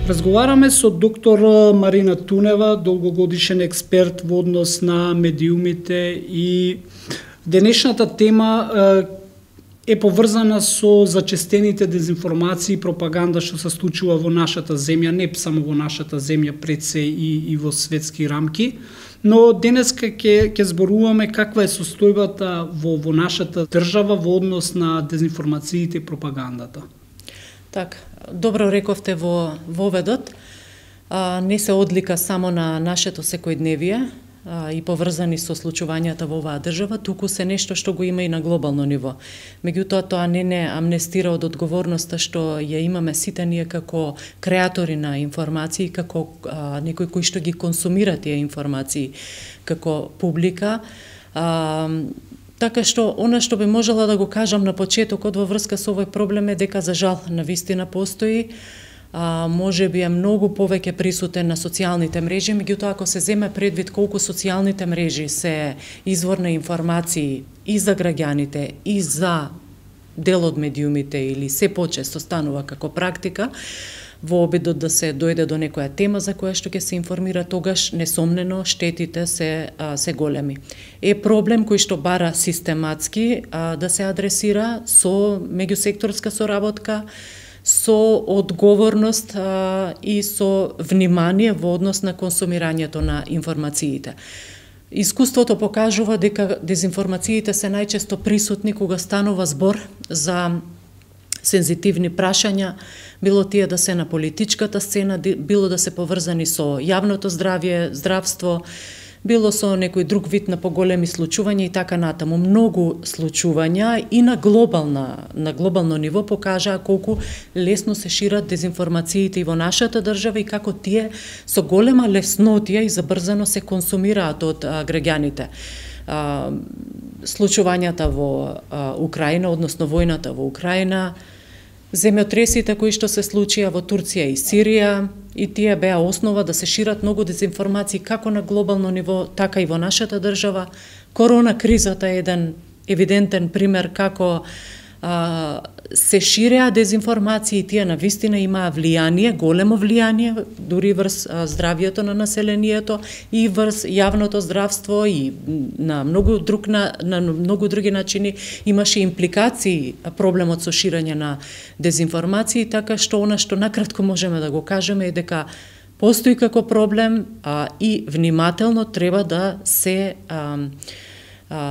Разговараме со доктор Марина Тунева, долгогодишен експерт во однос на медиумите, и денешната тема е поврзана со зачестените дезинформации и пропаганда што се случува во нашата земја, не само во нашата земја, пред се и во светски рамки. Но денеска ќе зборуваме каква е состојбата во нашата држава во однос на дезинформациите и пропагандата. Така, добро рековте во воведот. Не се одлика само на нашето секојдневие и поврзани со случувањата во оваа држава, туку се нешто што го има и на глобално ниво. Меѓутоа, тоа не амнестира од одговорноста што ја имаме сите ние како креатори на информации, како некои кои што ги консумира тие информации како публика. Така што, она што би можела да го кажам на почетокот во врска со овој проблем е дека, за жал, навистина постои, може би е многу повеќе присутен на социјалните мрежи, меѓутоа ако се земе предвид колку социјалните мрежи се извор на информации и за граѓаните, и за дел од медиумите, или се почесто станува како практика, во обидот да се дојде до некоја тема за која што ќе се информира, тогаш несомнено штетите се големи. Е проблем кој што бара систематски да се адресира со меѓусекторска соработка, со одговорност и со внимание во однос на консумирањето на информациите. Искуството покажува дека дезинформациите се најчесто присутни кога станува збор за сензитивни прашања, било тие да се на политичката сцена, било да се поврзани со јавното здравство, било со некој друг вид на поголеми случувања и така натаму. Многу случувања и на глобално ниво покажаа колку лесно се шират дезинформациите и во нашата држава и како тие со голема леснотија и забрзано се консумираат од граѓаните. Случувањата во Украина, односно војната во Украина, земјотресите кои што се случија во Турција и Сирија, и тие беа основа да се шират многу дезинформации како на глобално ниво, така и во нашата држава. Корона кризата е еден евидентен пример како се ширеа дезинформации, тие навистина имаа влијание, големо влијание, дури врз здравјето на населението и врз јавното здравство, и на многу други начини имаше импликации проблемот со ширење на дезинформации, така што она што накратко можеме да го кажеме е дека постои како проблем и внимателно треба да се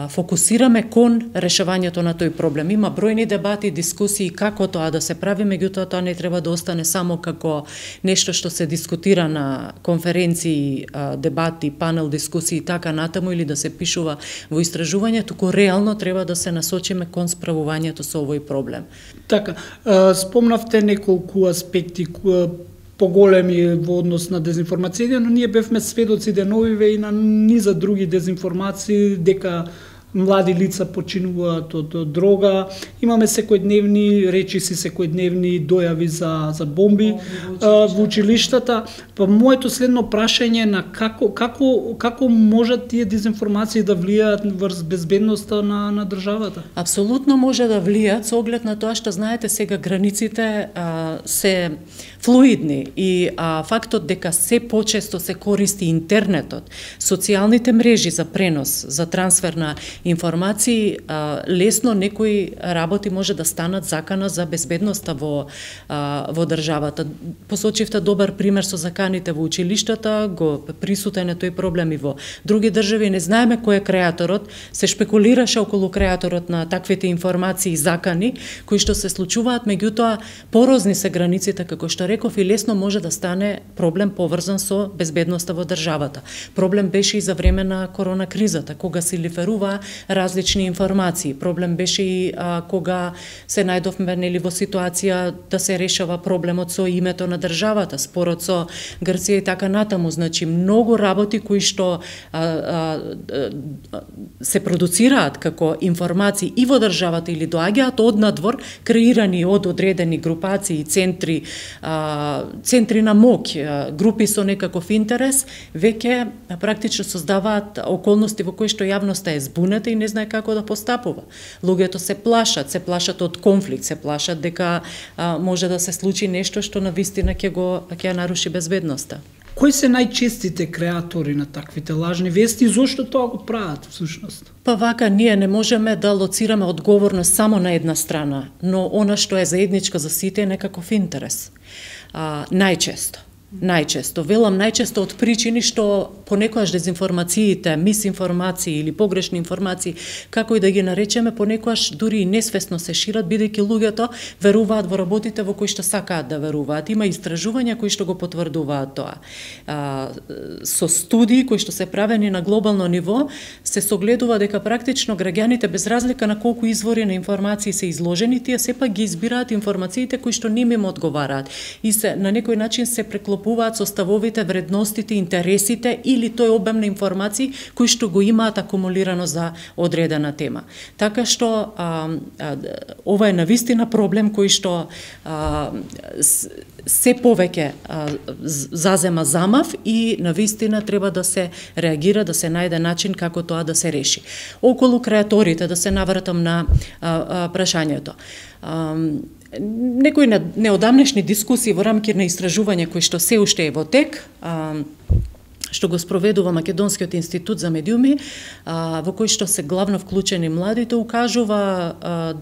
фокусираме кон решавањето на тој проблем. Има бројни дебати, дискусии како тоа да се прави, меѓутоа тоа не треба да остане само како нешто што се дискутира на конференции, дебати, панел дискусии и така натаму, или да се пишува во истражување, туку реално треба да се насочиме кон справувањето со овој проблем. Така, спомнавте неколку аспекти поголеми во однос на дезинформациите, но ние бевме сведоци деновиве и на низа други дезинформации, дека млади лица починуваат од дрога, имаме секојдневни речиси, секојдневни дојави за бомби во училиштата. Па моето следно прашање на како можат тие дезинформации да влијаат врз безбедноста на државата? Апсолутно може да влијаат со оглед на тоа што знаете сега границите се флуидни и фактот дека се почесто се користи интернетот, социјалните мрежи за пренос, за трансфер на информации, лесно некои работи може да станат закана за безбедноста во државата. Посочивте добар пример со заканите во училиштата, го присутен е тој проблем и во други држави. Не знаеме кој е креаторот, се шпекулираше околу креаторот на таквите информации и закани кои што се случуваат, меѓутоа порозни се границите, како што реков, и лесно може да стане проблем поврзан со безбедноста во државата. Проблем беше и за време на корона кризата, кога се лиферува различни информации. Проблем беше и кога се најдовме во ситуација да се решава проблемот со името на државата, спорот со Грција и така натаму. Значи, многу работи кои што се продуцираат како информации и во државата или доаѓаат од надвор, креирани од одредени групации, центри на моќ, групи со некаков интерес, веќе практично создаваат околности во кои што јавноста е збунета земјата и не знае како да постапува. Луѓето се плашат од конфликт, се плашат дека може да се случи нешто што навистина ќе ја наруши безбедноста. Кои се најчестите креатори на таквите лажни вести и зошто тоа го прават всушност? Па вака, ние не можеме да лоцираме одговорност само на една страна, но она што е заедничко за сите е некаков интерес. Најчесто, велам најчесто од причини што понекогаш дезинформациите, мисинформации или погрешни информации, како и да ги наречеме, понекогаш дури и несвесно се шират, бидејќи луѓето веруваат во работите во кои што сакаат да веруваат. Има истражувања кои што го потврдуваат тоа. Со студии кои што се правени на глобално ниво, се согледува дека практично граѓаните без разлика на колку извори на информации се изложени, тие сепак ги избираат информациите кои што ним им одговараат и се на некој начин се преклопуваат со ставовите, вредностите, интересите или тој обем на информации кои што го имаат акумулирано за одредена тема. Така што ова е навистина проблем кој што се повеќе зазема замав и навистина треба да се реагира, да се најде начин како тоа да се реши. Околу креаторите, да се навратам на прашањето. Некои неодамнешни дискусии во рамки на истражување кои што се уште е во тек, што го спроведува Македонскиот институт за медиуми, во кој што се главно вклучени младите, укажува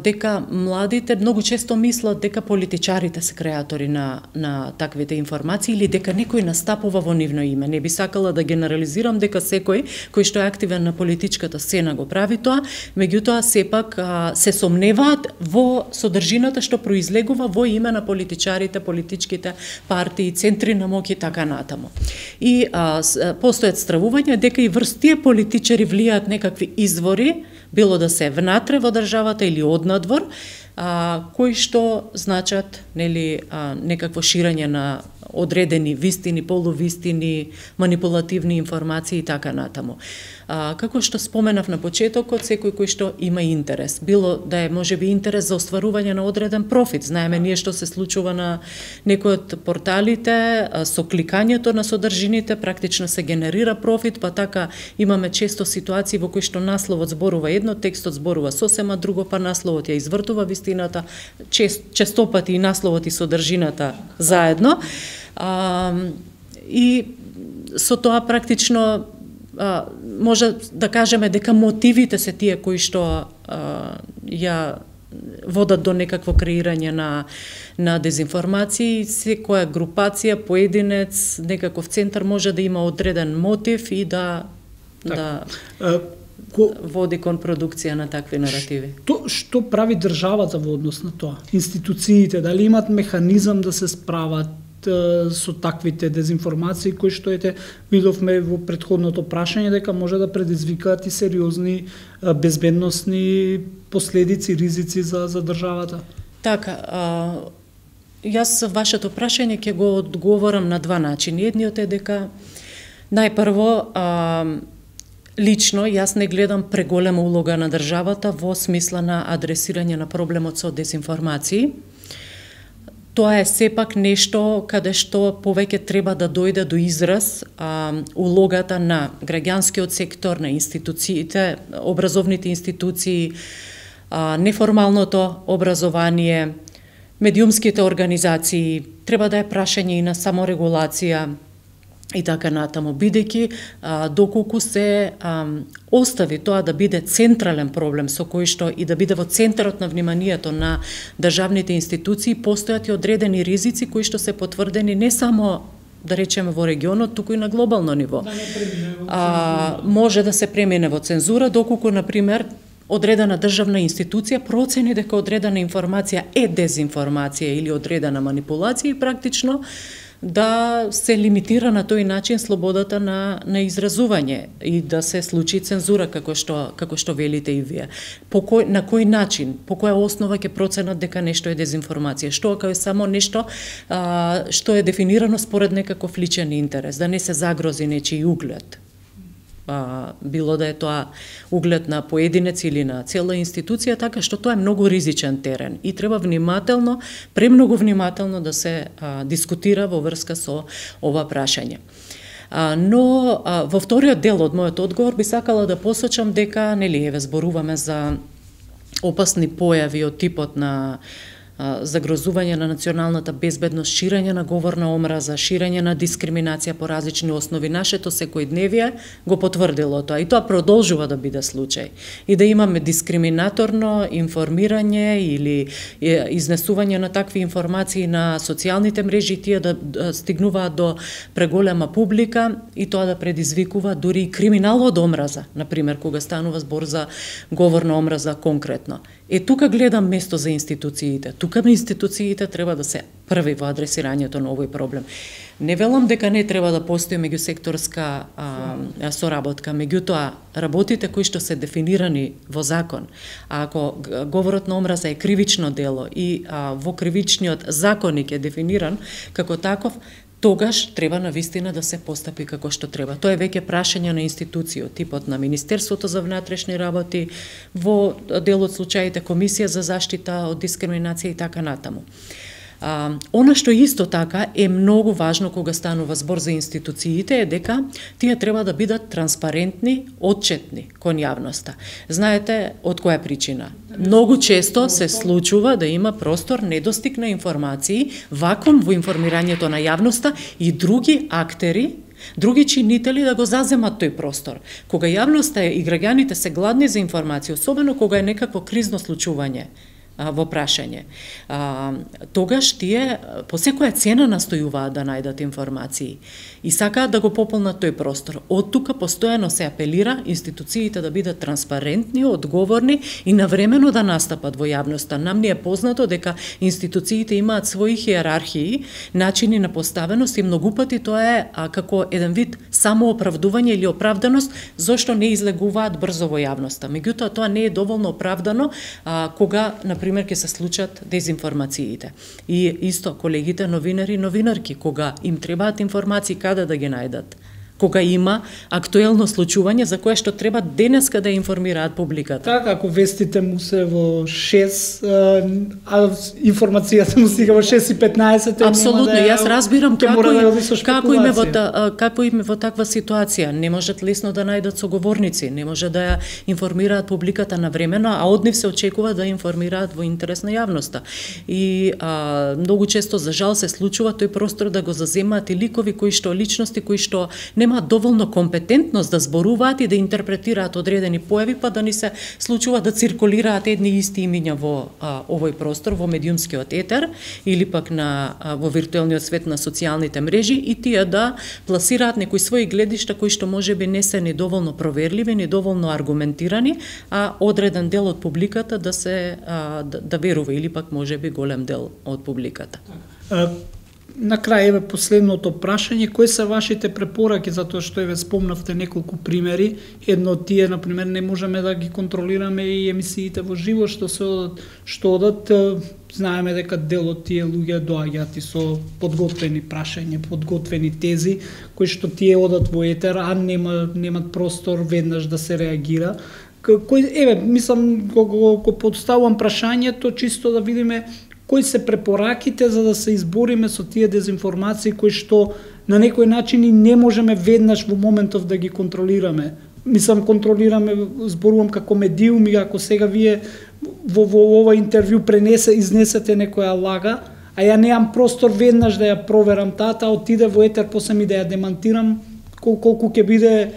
дека младите многу често мислат дека политичарите се креатори на таквите информации или дека некој настапува во нивно име. Не би сакала да генерализирам дека секој кој што е активен на политичката сцена го прави тоа, меѓутоа сепак се сомневаат во содржината што произлегува во име на политичарите, политичките партии, центри на моќ и така натаму. И постојат стравувања дека и врз тие политичари влијаат некакви извори, било да се внатре во државата или однадвор, кои што значат некакво ширење на одредени вистини, полувистини, манипулативни информации и така натаму. Како што споменав на почетокот, секој кој што има интерес, било да е можеби интерес за остварување на одреден профит. Знаеме ние што се случува на некои од порталите, со кликањето на содржините практично се генерира профит, па така имаме често ситуации во кои што насловот зборува едно, текстот зборува сосема друго, па насловот ја извртува вистината, честопати и насловот и содржината заедно. И со тоа практично може да кажеме дека мотивите се тие кои што ја водат до некакво креирање на дезинформации. Секоја групација, поединец, некаков центар може да има одреден мотив и да води кон продукција на такви наративи. Што прави државата во однос на тоа? Институциите, дали имат механизам да се справат со таквите дезинформации кои што видовме во претходното прашање дека може да предизвикаат и сериозни безбедносни последици, ризици за државата? Така, јас вашето прашање ќе го одговорам на два начини. Едниот е дека најпрво лично јас не гледам преголема улога на државата во смисла на адресирање на проблемот со дезинформации. Тоа е сепак нешто каде што повеќе треба да дојде до израз улогата на граѓанскиот сектор, на институциите, образовните институции, неформалното образование, медиумските организации. Треба да е прашање и на саморегулација и така натаму, бидејќи доколку се остави тоа да биде централен проблем со кој што и да биде во центарот на вниманието на државните институции, постојат и одредени ризици кои што се потврдени не само да речеме во регионот, туку и на глобално ниво. Може да се премине во цензура, доколку, например, одредена државна институција процени дека одредена информација е дезинформација или одредена манипулација и практично да се лимитира на тој начин слободата на изразување и да се случи цензура како што велите и вие. На кој начин, по која основа ќе проценат дека нешто е дезинформација? Што ако е само нешто што е дефинирано според некаков личен интерес, да не се загрози нечии углед? Било да е тоа углед на поединец или на цела институција, така што тоа е многу ризичен терен и треба внимателно, премногу внимателно да се дискутира во врска со ова прашање. Но во вториот дел од мојот одговор би сакала да посочам дека нели еве зборуваме за опасни појави од типот на загрозување на националната безбедност, ширење на говор на омраза, ширење на дискриминација по различни основи. Нашето секојдневие го потврдило тоа и тоа продолжува да биде случај. И да имаме дискриминаторно информирање или изнесување на такви информации на социјалните мрежи, тие да стигнуваат до преголема публика и тоа да предизвикува дури и криминал од омраза, например, кога станува збор за говор на омраза конкретно. Тука гледам место за институциите. Тука институциите треба да се први во адресирањето на овој проблем. Не велам дека не треба да постои меѓусекторска соработка, меѓутоа работите кои што се дефинирани во закон, ако говорот на омраза е кривично дело и во кривичниот законник е дефиниран како таков, тогаш треба навистина да се постапи како што треба. Тоа е веќе прашање на институција, типот на Министерството за внатрешни работи, во дел од случаите Комисија за заштита од дискриминација и така натаму. Она што исто така е многу важно кога станува збор за институциите е дека тие треба да бидат транспарентни, отчетни кон јавноста. Знаете од која причина? Многу често се случува да има простор недостиг на информации, вакуум во информирањето на јавноста и други актери, други чинители да го заземат тој простор. Кога јавноста и граѓаните се гладни за информација, особено кога е некакво кризно случување во прашање, тогаш тие по секоја цена настојуваат да најдат информации и сакаат да го пополнат тој простор. Од тука постојано се апелира институциите да бидат транспарентни, одговорни и навремено да настапат во јавноста. Нам ни е познато дека институциите имаат своји хиерархии, начини на поставеност и многу пати тоа е како еден вид самооправдување или оправданост зошто не излегуваат брзо во јавноста. Меѓутоа тоа не е доволно оправдано кога например ќе се случат дезинформациите. И исто колегите новинари и новинарки кога им требаат информации каде да ги најдат. Кога има актуелно случување за кое што треба денеска да информираат публиката. Така, ако вестите му се во 6, а информацијата му стига во 6:15, апсолутно, јас разбирам како им во таква ситуација. Не можат лесно да најдат соговорници, не може да ја информираат публиката навремено, а од нив се очекува да информираат во интерес на јавноста. И многу често, за жал, се случува тој простор да го заземаат и ликови личности кои што немаат доволно компетентност да зборуваат и да интерпретираат одредени појави, па да ни се случува да циркулираат едни исти имиња во овој простор, во медиумскиот етер или пак во виртуелниот свет на социјалните мрежи и тие да пласираат некои своји гледишта кои што можеби не се ни доволно проверливи, ни доволно аргументирани, а одреден дел од публиката да верува или пак можеби голем дел од публиката. На крај еве последното прашање, кои се вашите препораки, затоа што еве спомнавте неколку примери, едно од тие на пример не можеме да ги контролираме и емисиите во живо што одат, знаеме дека дел од тие луѓе доаѓаат и со подготвени прашања, подготвени тези кои што тие одат во етер, а немат простор веднаш да се реагира. Еве, мислам го подставувам прашањето чисто да видиме кои се препораките за да се избориме со тие дезинформации кои што на некој начин и не можеме веднаш во моментов да ги контролираме. Мислам, контролираме, зборувам како медиум и ако сега вие во ова интервју изнесете некоја лага, а ја неам простор веднаш да ја проверам таа отиде во етер, после ми да ја демантирам, колку ќе биде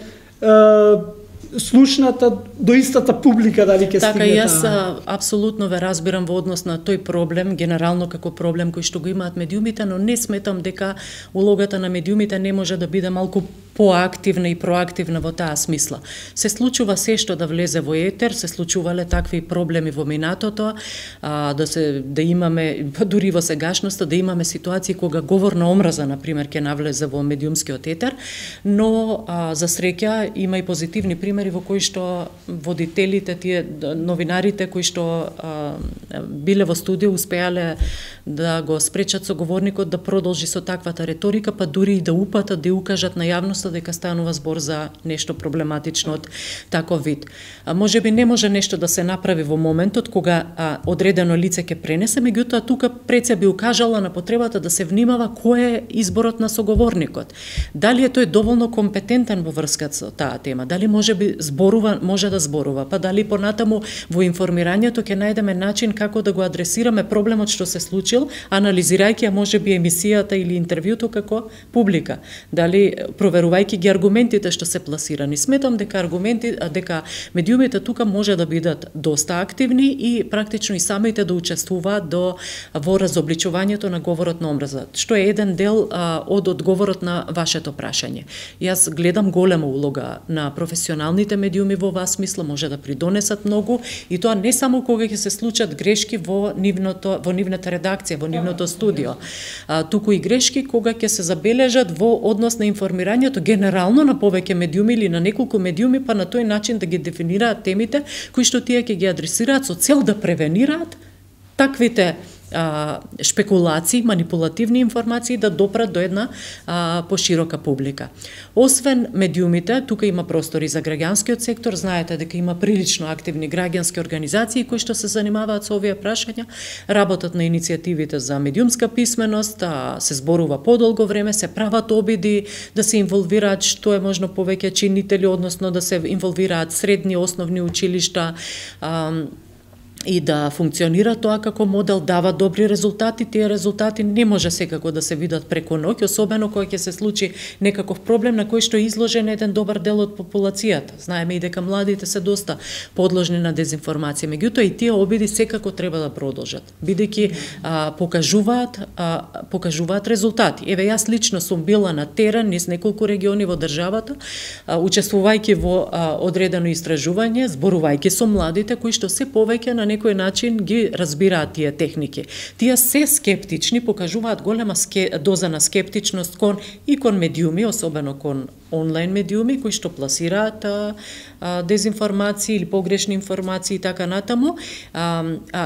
слушната до истата публика дали ќе стигне. Така, јас апсолутно ве разбирам во однос на тој проблем, генерално како проблем кој што го имаат медиумите, но не сметам дека улогата на медиумите не може да биде малку поактивна и проактивна во таа смисла. Се случува се што да влезе во етер, се случувале такви проблеми во минатото, да имаме, дури во сегашноста, да имаме ситуации кога говор на омраза, например, ќе навлезе во медиумскиот етер, но за среќа има и позитивни примери во кои што водителите, тие новинарите кои што биле во студио успеале да го спречат соговорникот да продолжи со таквата реторика, па дури и да упатат, да укажат на јавноста дека станува збор за нешто проблематично од таков вид. Можеби не може нешто да се направи во моментот кога одредено лице ќе пренесе, меѓутоа тука пред се би укажала на потребата да се внимава кој е изборот на соговорникот. Дали е тој доволно компетентен во врска со таа тема, дали може да зборува, па дали понатаму во информирањето ќе најдеме начин како да го адресираме проблемот што се случил, анализирајќи можеби емисијата или интервјуто како публика, дали проверувајќи ги аргументите што се пласирани. Сметам дека медиумите тука може да бидат доста активни и практично и самите да учествуваат во разобличувањето на говорот на омраза, што е еден дел од одговорот на вашето прашање. Јас гледам голема улога на професионалните медиуми во оваа смисла, може да придонесат многу и тоа не само кога ќе се случат грешки во нивната редакција, во нивното студио, туку и грешки кога ќе се забележат во однос на информирањето генерално на повеќе медиуми или на неколку медиуми, па на тој начин да ги дефинираат темите кои што тие ќе ги адресираат со цел да превенираат таквите шпекулации, манипулативни информации да допрат до една поширока публика. Освен медиумите, тука има простори за граѓанскиот сектор, знаете дека има прилично активни граѓански организации кои што се занимаваат со овие прашања, работат на иницијативите за медиумска писменост, се зборува подолго време, се прават обиди да се инволвираат што е можно повеќе чинители, односно да се инволвираат средни, основни училишта, и да функционира тоа како модел, дава добри резултати. Тие резултати не може секако да се видат преку ноќ, особено кога ќе се случи некаков проблем на кој што е изложен еден добар дел од популацијата. Знаеме и дека младите се доста подложни на дезинформација, меѓутоа и тие обиди секако треба да продолжат, бидејќи покажуваат резултати. Еве, јас лично сум била на терен низ неколку региони во државата, учествувајќи во одредено истражување, зборувајќи со младите кои што се повеќе на некој начин ги разбираат тие техники. Тие се скептични, покажуваат голема доза на скептичност кон медиуми, особено кон онлайн медиуми кои што пласираат дезинформации или погрешни информации и така натаму,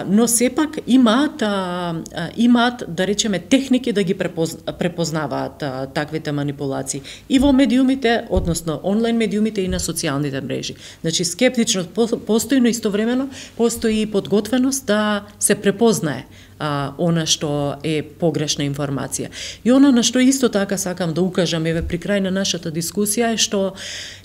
но сепак имаат да речеме техники да ги препознаваат таквите манипулации и во медиумите, односно онлайн медиумите и на социјалните мрежи. Значи скептичност постои, но истовремено постои и подготвеност да се препознае она што е погрешна информација. И она на што исто така сакам да укажам еве при крај на нашата дискусија е што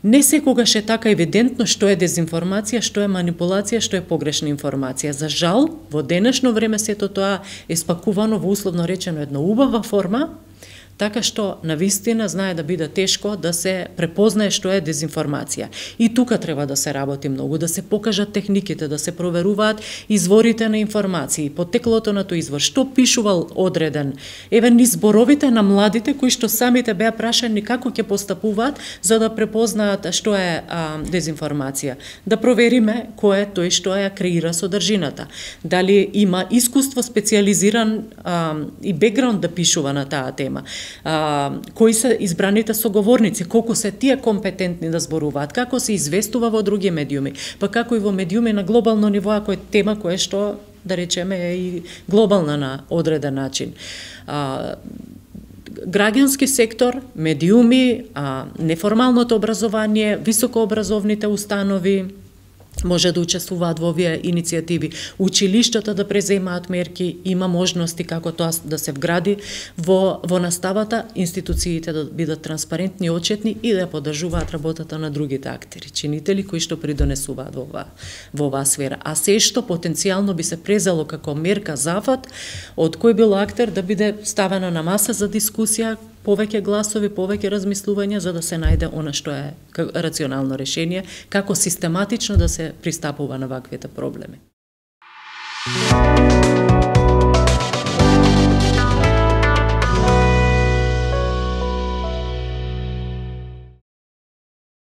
не секогаш е така евидентно што е дезинформација, што е манипулација, што е погрешна информација. За жал, во денешно време сето тоа е спакувано во условно речено една убава форма, така што навистина знае да биде тешко да се препознае што е дезинформација. И тука треба да се работи многу, да се покажат техниките, да се проверуваат изворите на информации, потеклото на тој извор, што пишувал одреден. Еве низ зборовите на младите кои што самите беа прашани како ќе постапуваат за да препознаат што е дезинформација. Да провериме кој е тој што ја креира содржината. Дали има искуство специјализиран и бекграунд да пишува на таа тема. Кои се избраните соговорници, колку се тие компетентни да зборуваат, како се известува во други медиуми, па како и во медиуми на глобално ниво, ако е тема која што, да речеме, е и глобална на одреден начин. Граѓански сектор, медиуми, неформалното образование, високообразовните установи, може да учествуваат во овие иницијативи. Училиштата да преземаат мерки, има можности како тоа да се вгради во наставата, институциите да бидат транспарентни, отчетни и да поддржуваат работата на другите актери, чинители кои што придонесуваат во оваа сфера. А се што потенцијално би се презало како мерка зафат од кој бил актер да биде ставено на маса за дискусија, повеќе гласови, повеќе размислувања за да се најде она што е рационално решение, како систематично да се пристапува на ваквите проблеми.